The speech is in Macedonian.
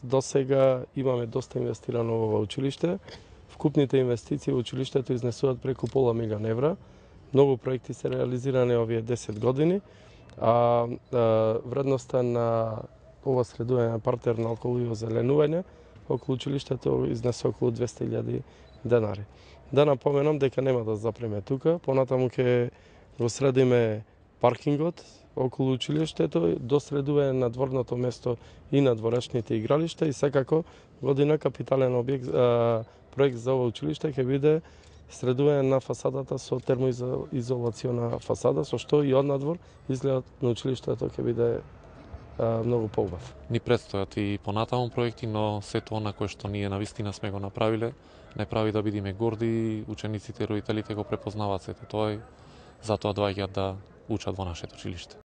До сега имаме доста инвестирано во ова училиште. Вкупните инвестиции во училиштето изнесуваат преку пола милион евра. Многу проекти се реализирани овие 10 години, а вредноста на ова средување на партер на околу и озеленување околу училиштето изнесе околу 200.000 денари. Да напоменам дека нема да запреме тука, понатаму ќе го средиме паркингот околу училиштето, до средување на дворното место и на дворешните игралишта и секако година капитален објект, проект за ова училиште ќе биде средување на фасадата со термоизолациона фасада, со што и однадвор изгледот на училиштето ќе биде многу поубав. Ни предстојат и понатаму проекти, но сето она кое што ние навистина сме го направиле, не прави да бидеме горди, учениците и родителите го препознаваат сето тоа и затоа доаѓаат да учат во нашето училиште.